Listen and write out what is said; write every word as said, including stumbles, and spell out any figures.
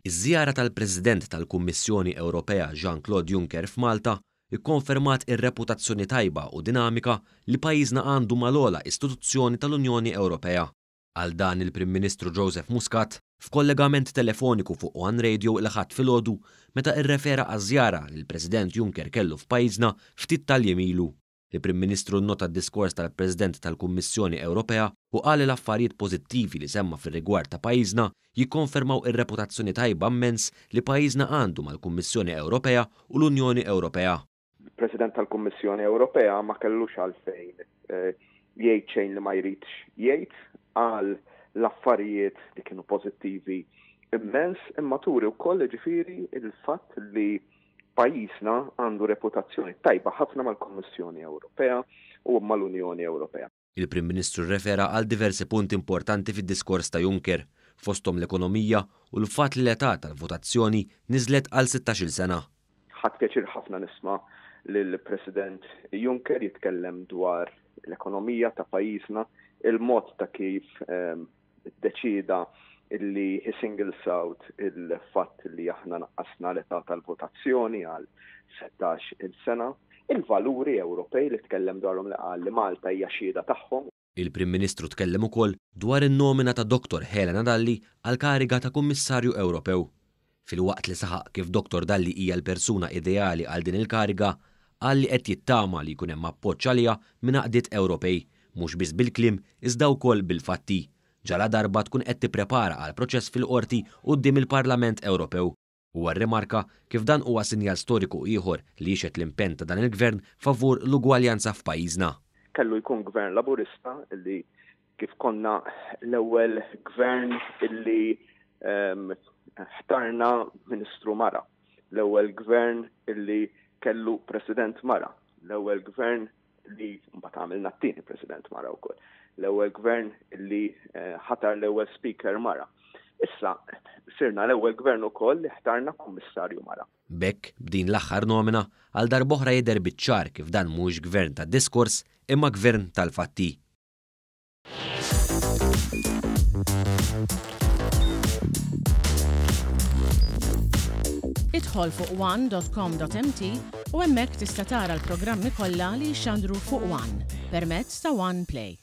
Iż-żjara tal-President tal-Kummissjoni Ewropea Jean-Claude Juncker f'Malta ikkonfermat ir-reputazzjoni tajba u dinamika li pajjiżna għandu mal-ogħla istituzzjoni tal-Unjoni Ewropea. Għal dan il-Prim Ministru Joseph Muscat f'kollegament telefoniku fuq One Radio il-Ħadd filgħodu meta irrefera għaż-żjara li l-President Juncker kellu f'pajjiżna ftit tal-jiem ilu. Il-Prim Ministru nnota d-diskors tal-President tal-Kummissjoni Ewropea u qal li l-affarijiet pożittivi li semma fir-rigward ta' pajjiżna jikkonfermaw ir-reputazzjoni tajba immens li pajjiżna għandu mal-Kummissjoni Ewropea u l-Unjoni Ewropea. Il-President tal-Kummissjoni Ewropea ma kellux għalfejn eh, jgħid xejn li ma jridx jgħid għal l-affarijiet li kienu pożittivi immens, imma turi wkoll ġifieri il-fatt li pajjiżna għandu reputazzjoni tajba ħafna mal-Kummissjoni Ewropea u mal-Unjoni Ewropea. Il-Prim Ministru rrefera għal diversi punti importanti fid-diskors ta' Juncker, fosthom l-ekonomija u l-fatt li l-età tal-votazzjoni niżlet għal sittax-il sena. Ħadt pjaċir ħafna nisma' lill-President Juncker jitkellem dwar l-ekonomija ta' pajjiżna, il-mod ta' kif ehm, iddeċieda illi he singles out il-fatt li aħna naqqasna l-età tal-votazzjoni għal sittax-il sena, il-valuri Ewropej li tkellem dwarhom li qal li Malta hija xhieda tagħhom. Il-Prim Ministru tkellem ukoll dwar in-nomina ta' Doktor Helena Dalli għal kariga ta' Kummissarju Ewropew. Filwaqt li saħaq kif Doktor Dalli hija l-persuna ideali għal din il-kariga, qal li qed jittama li jkun hemm appoġġ għaliha minn għaqdiet Ewropej, mhux biss bil-kliem iżda wkoll bil-fatti. Ġala darba tkun qed tipprepara għal proċess fil-qorti quddiem il-Parlament Ewropew. Huwa rrimarka kif dan huwa sinjal storiku ieħor li jixhed l-impenn ta' dan il-gvern favur l-ugwaljanza f'pajjiżna. Kellu jkun gvern laburista illi kif konna l-ewwel gvern illi, ehm, ħtarna ministru mara, l-ewwel gvern illi kellu president mara, l-ewwel gvern li mbagħad għamilna t-tieni president mara wkoll, l-ewwel gvern illi, eh, ħatar l-ewwel speaker mara. Issa sirna l-ewwel gvern ukoll li ħtarna kummissarju mara. B'hekk, b'din l-aħħar nomina, għal darb'oħra jidher biċ-ċar kif dan mhuwiex gvern ta' diskors imma gvern tal-fatti. Idħol fuq one dot com dot m t u hemmhekk tista' tara l-programmi kollha li jxandru fuq One permezz ta' One Play.